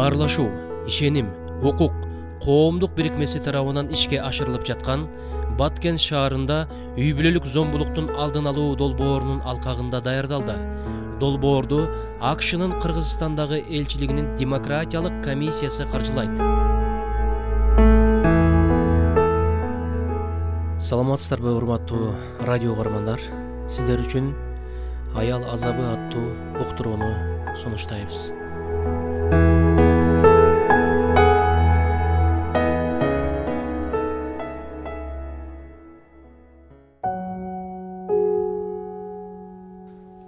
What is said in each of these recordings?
Баарлашуу, ишеним, укук коомдук бирикмеси тарабынан ишке ашырылып жаткан Баткен шаарында үй бүлөлүк зомбулуктун алдын алуу долбоорунун алкагында даярдалды. Долбоорду АКШнын Кыргызстандагы элчилигинин демократиялык комиссиясы каржылайт. Саламатсыздарбы, урматтуу радио угармандар? Сиздер үчүн аял азабы аттуу уктурууну сунуштайбыз.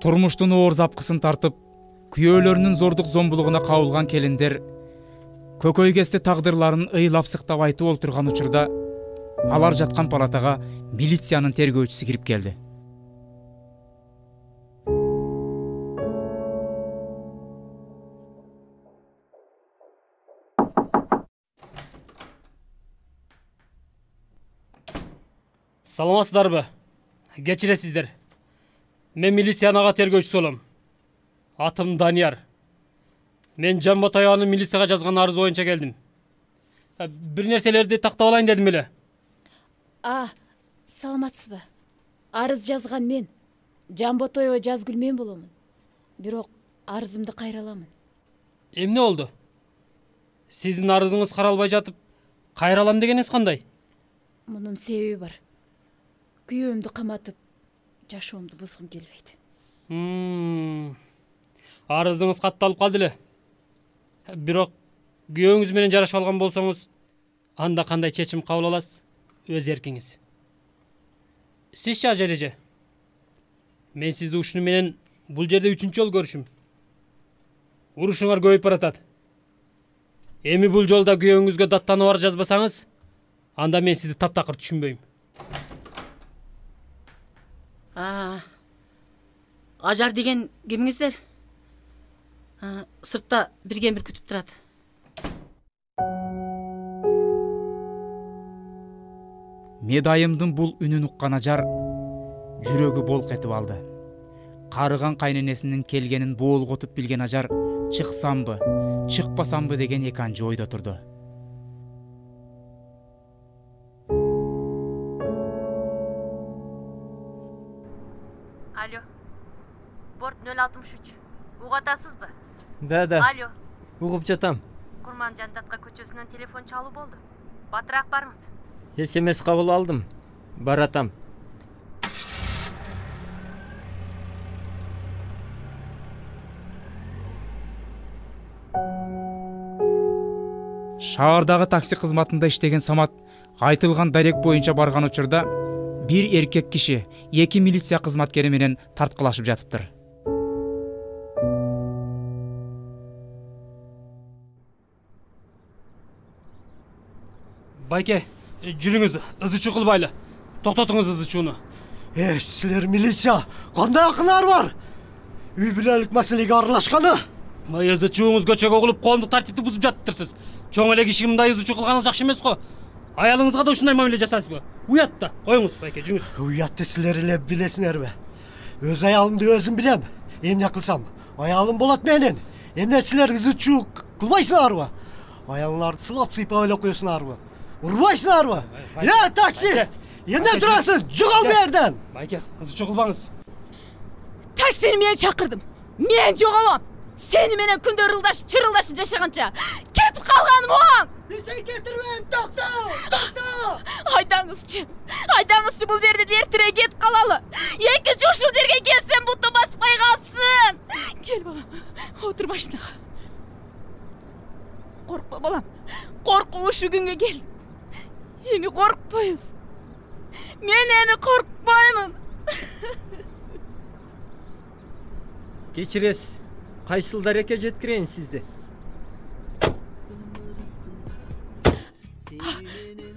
Турмуштун оор запкысын тартып, күйөөлөрүнүн зордук зомбулугуна кабылган келиндер көкөйкести тагдырларын ыйлап сыктап айтып олтурган учурда алар жаткан палатага милициянын тергөөчүсү кирип келди. Саламатсыздарбы? Кечиресиздер. Мен милициянын ага тергөөчүсү болом. Атым Данияр. Мен Жамбат аябынын милицияга жазган арыз боюнча келдим. Бир нерселерди тактап алайын дедим эле. Саламатсызбы? Арыз жазган мен. Жамботоева Жазгүл мен боломун. Бирок арызымды кайра аламын. Эмне болду? Сиздин арызыңыз каралбай жатып, кайра алам дегениңиз кандай? Мунун себеби бар. Күйөөмдү каматып, жашоомду бузгум келбейт. Арызыңыз катталып калды эле. Бирок күйөөңүз менен жарашып алган болсоңуз, анда кандай чечим кабыл аласыз? Өз эркиңиз. Сизчи ажереже? Мен сизди ушуну менен бул жерде 3-чү жолу көрүшүм. Урушуңар көбөйүп баратат. Эми бул жолда күйөөңүзгө даттанып арыз жазбасаңыз, анда мен сизди таптакыр түшүнбөйм. Ажар деген кимиңиздер? Сыртта бирген бир күтүп турат. Медайымдын бул үнүн уккан Ажар жүрөгү болк этип алды. Карыган кайненесинин келгенин боолготуп билген Ажар чыксамбы, чыкпасамбы деген эки анчы ойдо турду. Алло. Борт 063. Угуп атасызбы? Да. Алло. Угуп жатам. Курман Жандатка көчөсүнөн телефон чалуу болду. Батыраак барыңыз. СМС кабыл алдым. Баратам. Шаардагы такси кызматында иштеген Самат айтылган дарек боюнча барган учурда бир эркек киши эки милиция кызматкери менен тарткылашып жатыптыр. Байке, жүрүңүз, ызы чуу кылбайлы. Токтотуңуз ызы чууну. Силер милиция, кандай акылар бар? Үй бүлөлүк маселеге аралашканы? Ызы чууңуз көчөгө угулуп, коомдук тартипти бузуп жатыптырсыз. Чоң эле киши мындай ызы чуу кылганыңыз жакшы эмес го. Аялыңызга да ушундай мамиле жасайсызбы? Уят да, коюңуз Байке, жүрүңүз. Уятты силер эле билесиңерби? Өз аялымды өзүм билем. Эмне кылсам, аялым болот менин. Эмне силер ызы чуу кылбайсыңарбы? Аялыңарды сылап сыйпап эле коесуңарбы? Урбайсыңарбы? Таксист! Эмне турасың? Жогол бу жерден! Байке, ызы чуу кылбаңыз. Таксини мен чакырдым. Мен жоголом. Сени менен күндөр чырылдашып жашаганча кетип калганым оң. Бирсей кетирбейм, токто! Айдаңызчы, бул жерде эртерээк кетип калалы. Экинчи ушул жерге келсем буту баспай калсын. Кел балам, отур машинага. Коркпа балам, коркуп ушу күнгө кел. Эми коркпойбуз. Мен эми коркпоймун. Кечиресиз. Кайсыл дарекке жеткирейин сизди?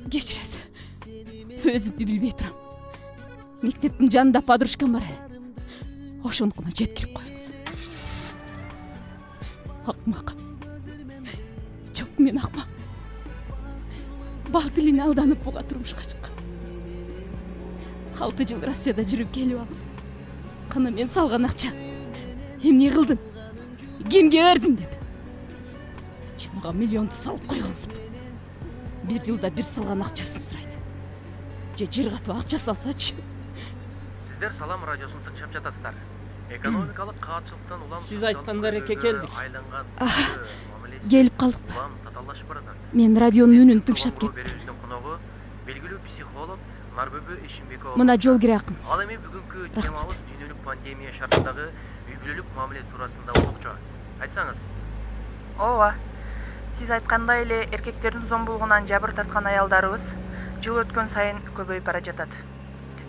Кечиресиз. Өзүмдү билбей турам. Мектептин жанында подружкам бар. Ошонукуна жеткирип коюңуз. Акмак. Жок, мен акмак. Бал тилине алданып буга турмушка чыккан. 6 жыл Россияда жүрүп келип алып. Кана мен салган акча. Эмне кылдың? Кимге бердиң деп. Мага миллионду салып койгонсуңбу. Бир жылда бир салган акчасын сурайт. Же жер катып акча салсачы. Сиздер Салам радиосун тыңшап жатасыздар. Экономикалык каатчылыктан улам Сиз айткандар эке келдик. Келип калдыкпы? Мен радионун үнүн тыңшап кеттим. Белгилүү психолог Нарбөбө Ишимбекова. Мына жол кире акыңыз. Ал эми бүгүнкү темабыз дүйнөлүк пандемия шартындагы үй бүлөлүк мамиле туурасында окчу. Айтсаңыз. ооба, сиз айткандай эле эркектердин зомбулугунан жабыр тарткан аялдарыбыз жыл өткөн сайын көбөйүп бара жатат.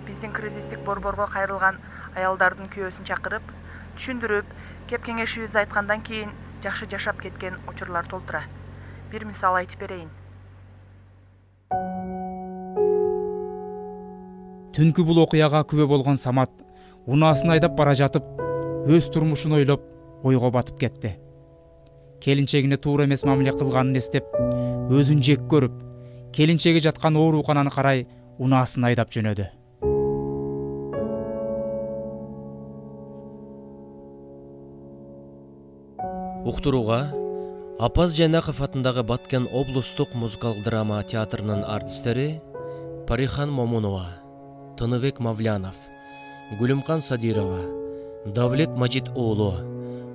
Биздин кризистик борборго кайрылган аялдардын күйөөсүн чакырып, түшүндүрүп, кеп кеңешибизди айткандан кийин жакшы жашап кеткен учурлар толтура. Бир мисал айтып берейин. Түнкү бул окуяга күбө болгон Самат унаасын айдап бара жатып, өз турмушун ойлоп, ойго батып кетти. Келинчегине туура эмес мамиле кылганын эстеп, өзүн жек көрүп, келинчеги жаткан оорукананы карай унаасын айдап жөнөдү. Уктурууга Апаз Жайнаков атындагы Баткен облустук музыкалык драма театрынын артисттери Парихан Момунова, Тыныбек Мавлянов, Гүлүмкан Садирова, Давлет Мажит уулу,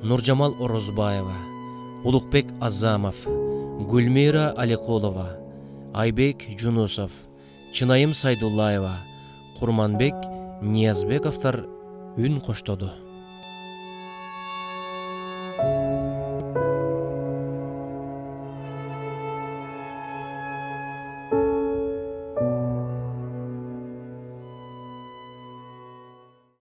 Нуржамал Орозбаева, Улукбек Азамов, Гүлмира Аликулова, Айбек Жунусов, Чынайым Сайдуллаева, Курманбек Ниязбековдор үн коштоду.